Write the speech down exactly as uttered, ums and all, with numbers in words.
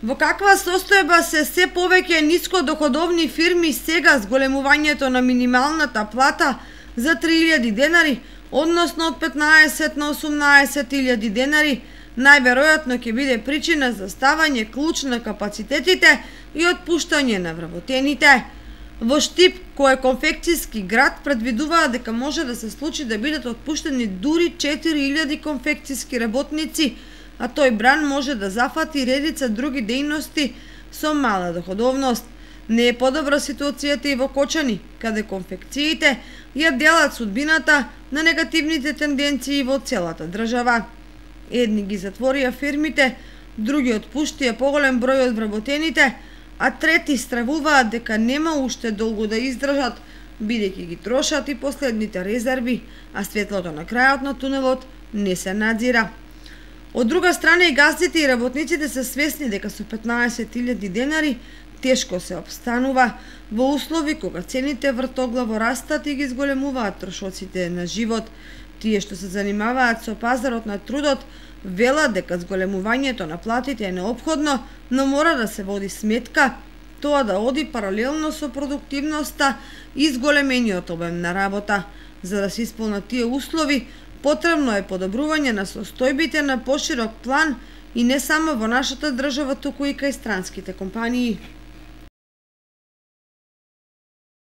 Во каква состојба се се повеќе нискодоходовни фирми сега с големувањето на минималната плата за три илјади денари, односно од петнаесет на осумнаесет илјади денари, најверојатно ќе биде причина за ставање клуч на капацитетите и отпуштање на вработените. Во Штип, кој е конфекцијски град, предвидуваат дека може да се случи да бидат отпуштени дури четири илјади конфекцијски работници, а тој бран може да зафати редица други дејности со мала доходовност. Не е подобра ситуацијата и во Кочани, каде конфекциите ја делат судбината на негативните тенденции во целата држава. Едни ги затворија фирмите, други отпуштија поголем број од вработените, а трети стравуваат дека нема уште долго да издржат, бидејќи ги трошат и последните резерви, а светлото на крајот на тунелот не се надзира. Од друга страна и газдите и работниците се свесни дека со петнаесет илјади денари тешко се обстанува во услови кога цените вртоглаво растат и ги зголемуваат трошоците на живот. Тие што се занимаваат со пазарот на трудот велат дека зголемувањето на платите е неопходно, но мора да се води сметка тоа да оди паралелно со продуктивноста и зголемениот обем на работа. За да се исполнат тие услови, потребно е подобрување на состојбите на поширок план и не само во нашата држава, туку и кај странските компании.